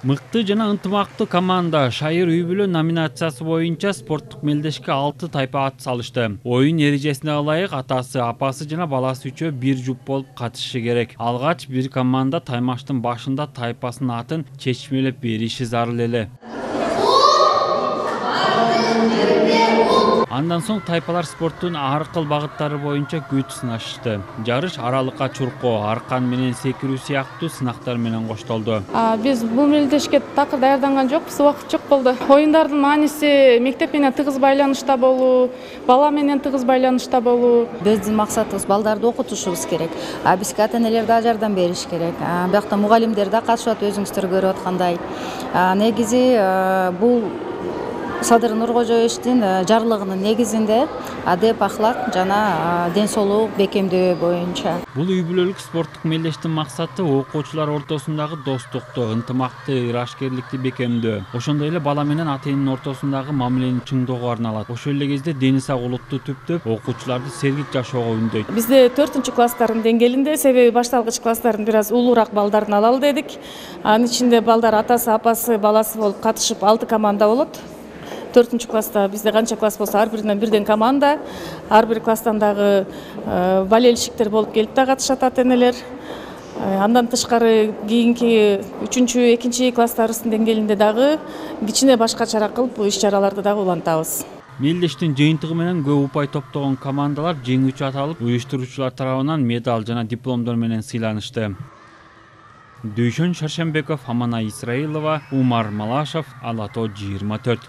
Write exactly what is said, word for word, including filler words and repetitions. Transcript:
Мыкты жана ынтымактуу команда шайыр үй бүлө номинациясы боюнча спорттук мелдешке алты тайпа ат салышты. Оюн эрежесине ылайык атасы, апасы жана баласы үчөө бир жуп болуп катышышы керек. Алгач бир команда таймаштын башында тайпасынын атын чечмелеп бериши зарыл эле. Андан соң тайпалар спорттун ар кыл багыттары боюнча күч сынашышты. Жарыш аралыкка чуркоо, аркан менен секирүү сыяктуу сынактар менен коштолду. Биз бул мелдешке такыр даярданган жокпуз, убакыт жок болду. Оюндардын мааниси мектеп менен тыгыз байланышта болуу, бала менен тыгыз байланышта болуу. Биздин максатыбыз балдарды окутушубуз керек. А бизге ата-энелер да жардам бериш керек. Биякта мугалимдер да катышат, өзүңүздөр көрүп аткандай. Негизи бул Садыр Нуркожоевичтин жарлыгынын негизинде адеп, ахлак жана ден соолук бекемдөө боюнча. Бул үй бүлөлүк спорттук мелдештин максаты окуучулар ортосундагы достукту, ынтымакты, ырашкерликти бекемдөө. Ошондой эле бала менен ата эненин ортосундагы мамилени чыңдоого арналат. Ошол эле кезде дени сак улутту түптөп, окуучуларды сергек жашоого үндөйт. Бизде төртүнчү класстардын деңгээлинде, себеби башталгыч класстардын бир аз улуураак балдарын алалы дедик. Анын ичинде балдар атасы, апасы, баласы болуп катышып алты команда болот. төртүнчү класста бизде канча класс болсо ар биринен бирден команда, ар бир класстан дагы болельщиктер болуп келип да катышат ата-энелер. Андан тышкары кийинки үчүнчү, экинчи класстарыбыздын деңгээлинде дагы кичине башкачараак кылып бул иш-чараларды дагы улантабыз. Мелдештин жыйынтыгы менен көп упай топтогон командалар жеңүүчү аталып, уюштуруучулар тарабынан медаль жана дипломдор менен сыйланышты. Дүйшөн Шаршембеков, Аманай Исраилова, Умар Малашев, Ала тоо жыйырма төрт.